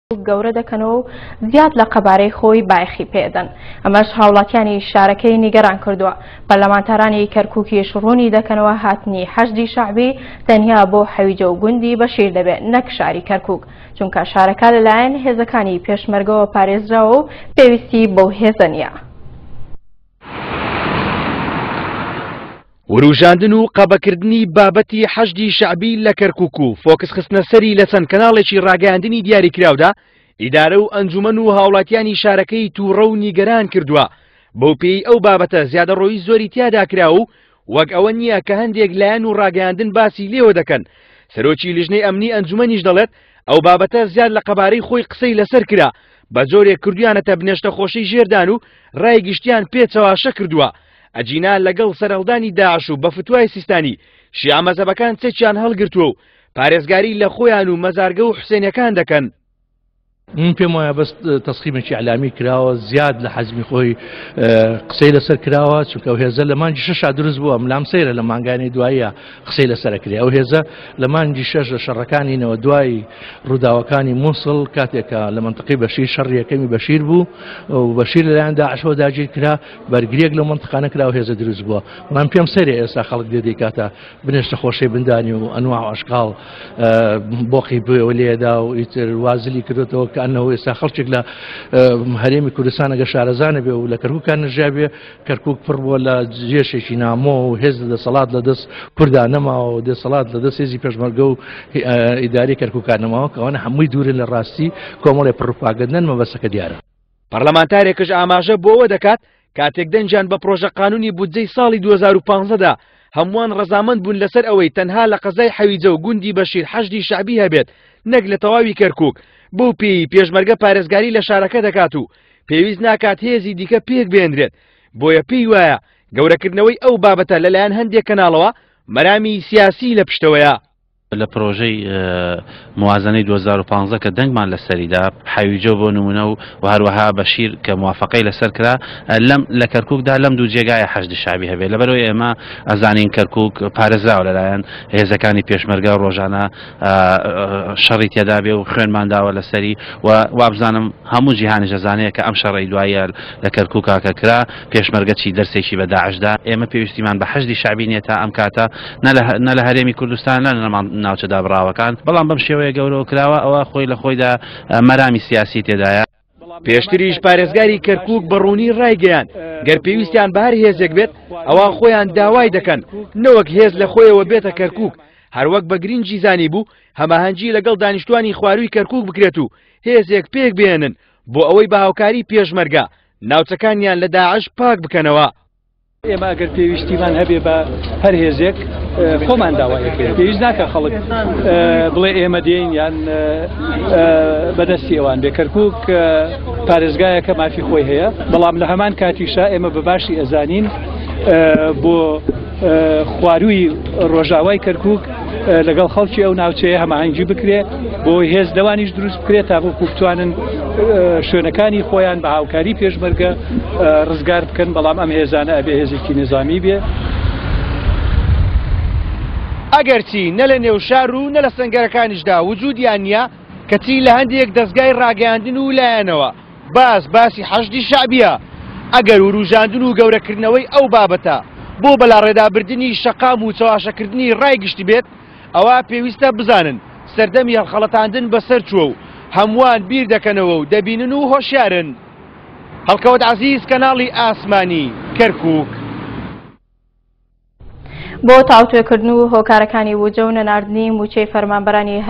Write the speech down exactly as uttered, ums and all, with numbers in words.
گەورە دەکەنەوە و زیاد لە قەبارەی خۆی بایەخی پێدەن. ئەمەش هاوڵاتیانی شارەکەی نیگەران کردووە. پەرلەمانتارانی کەرکووکیش ڕوونی دەکەنەوە هاتنی حەشدی شەعبی تەنیا بۆ حەویجە و گوندی بەشیر دەبێت نەک شاری کەرکووک، چونکە شارەکە لەلایەن هێزەکانی پێشمەرگەوە پارێزراوە و پێویستی بەو هێزە نییە. وروژاندن و قەبەکردنی بابەتی حەشدی شەعبی لە کەرکووک و فۆکس خستنە سەری لە چەند کەناڵێکی ڕاگەیاندنی دیاریکراودا ئیدارە و ئەنجومەن و هاوڵاتیانی شارەکەی تووڕە و نیگەران کردووە. بەو پێی ئەو بابەتە زیادەڕۆیی زۆری تیادا کرا و وەک ئەوە نییە کە هەندێک لایەن و ڕاگەیاندن باسی لێوە دەکەن. سەرۆکی لیژنەی ئەمنی ئەنجومەنیش دەڵێت ئەو بابەتە زیاد لە قەبارەی خۆی قسەی لەسەر کرا، بە جۆرێک کردویانەتە بنێشتە خۆشەی ژێردان و ڕای گشتیان پێچەواشە کردووە. ئەجینا لەگەڵ سەرهەڵدانی داعش و بە فتوای سیستانی شیعە مەزهەبەکان چەکیان هەڵگرتووە و پارێزگاری لە خۆیان و مەزارگە و حوسێنەکان دەکەن. من پێم وایە بەس تەسخیمێکی ئیعلامی کراوە، زیاد لە حەزمی خۆی قسەی لەسەر کراوە، چونکە ئەو هێزە لە مانگی شەشا دروست بووە. لام سەیرە لە مانگانی دواییە قسەی لەسەر کرێ. ئەو هێزە لە مانگی شەش لە شەڕەکانینەوە دوای ڕووداوەکانی مووسڵ، کاتێکە لە منطقەی بەشیر شەڕ یەکەمی بەشیر بوو و بەشیر لەلایەن داعشەوە داگیر کرا، بەرگریەک لەو منطقانە کرا و هێزە دروست بووە. بەڵام پێم سەیرە ئێستا خەڵک دێ دەیکاتە بنێشتە خۆشەی بندانی و ئەنواع و ئەشکاڵ بۆقی بووەوە لێدا و ئیتر وازلی کردێتەوە کە ئەنەوە ئێستا خەڵکێک لە هەرێمی کوردستان ئەگەر شارەزانە بێ و لە کەرکووکان نەژیا بێ، کەرکووک پڕ بووە لە جێشێکی نامۆ و هێز لە دەسەڵات لە دەست کووردا نەماوە و دەسەڵات لە دەست هێزی پێشمەرگە و ئیداری کەرکووکان نەماوە، کە ئەوانە هەمووی دوورن لە ڕاستی کۆمەڵێ پڕوپاگەندن مەبەستەکە دیارە. پەرلەمانتارێکش ئاماژە بۆ ئەوە دەکات کاتێک دەنجان بە پرۆژە قانونی بودجەی ساڵی دوو هەزار و پانزەدا هەمووان ڕەزامەند بوون لەسەر ئەوەی تەنها لە قەزای حەویجە و گوندی بەشیر حەشدی شەعبی هەبێت نەک لە تەواوی کەرکووک، بەو پێی پێشمەرگە پارێزگاری لە شارەکە دەکات و پێویست ناکات هێزی دیکە پێک بێنرێت. بۆیە پێی وایە گەورەکردنەوەی ئەو بابەتە لەلایەن هەندێک کەناڵەوە مەرامی سیاسی لە پشتەوەیە. لە پرۆژەی موازنەی دوو هەزار و پانزە کە دەنگمان لەسەریدا حەویجە بۆ نمونە و هەروەها بەشیر کە موافقەی لەسەر کرا لەم لە کەرکووکدا لەم دوو جێگایە حەشدی شەعبی هەبێت. لەبەرەوەی ئێمە ئەزانین کەرکووک پارێزراوە لەلایەن هێزەکانی پێشمەرگە ڕۆژانە شەڕی تێدا بێ و خوێنمان داوە لەسەری و وابزانم هەموو جیهانیش ئەزانەیە کە ئەم شەڕەی دوایە لە کەرکووکا کە کرا پێشمەرگە چی دەرسێکی بە داعشدا. ئێمە پێویستیمان بە حەشدی شەعبی نییە تا ئەم کاتە نە لە هەرێمی کوردستان نە لە ناوچە دابڕاوەکان، بەڵام بەم شێوەیە گەورەوە کراوە ئەوە خۆی لە خۆیدا مەرامی سیاسی تێدایە. پێشتریش پارێزگاری کەرکووک بە ڕوونی ڕایگەیاند گەر پێویستیان بە هەر هێزێک بێت ئەوە خۆیان داوای دەکەن نەوەک هێز لە خۆیەوە بێتە کەرکووک. هەروەک بە گرنگی زانی بوو هەماهەنگی لەگەڵ دانیشتوانی خوارووی کەرکووک بکرێت و هێزێک پێک بێنن بۆ ئەوەی بە هاوکاری پێشمەرگە ناوچەکانیان لە داعش پاک بکەنەوە. ئێمە ئەگەر پێویستیمان هەبێ بە هەر هێزێک خۆمان داوایەکەین، پێویست ناکە خەڵک بڵێ ئێمە دێین یان بەدەستی ئەوان بێ. کەرکووک پارێزگایەکە مافی خۆی هەیە، بەڵام لە هەمان کاتیشا ئێمە بە باشی ئەزانین بۆ خوارووی ڕۆژاوای کەرکووک لەگەڵ خەڵکی ئەو ناوچەیە هەماهەنگی بکرێ بۆ هێز لەوانیش دروست بکرێت تا بۆ بتوانن شوێنەکانی خۆیان بە هاوکاری پێشمەرگە ڕزگار بکەن. بەڵام ئەم هێزانە ئەبێ هێزێکی نظامی بێ. ئەگەرچی نە لە نێو شار و نە لە سەنگەرەکانیشدا وجودیان نییە، کەچی لە هەندێک دەستگای ڕاگەیاندن و لایەنەوە باس باسی حەشدی شەعبیە. ئەگەر وروژاندن و گەورەکردنەوەی ئەو بابەتە بۆ بەلاڕێدابردنی شەقام و چەواشەکردنی ڕای گشتی بێت، ئەوە پێویستە بزانن سەردەمی هەڵخەڵەتاندن بەسەر چووە و هەمووان بیر دەکەنەوە و دەبینن و هۆشیارن. هەڵکەوت عەزیز، کەناڵی ئاسمانی، کەرکووک. بۆ تاوتوێکردن و هۆکارەکانی وجە و نەناردنی موچەی فەرمانبەرانی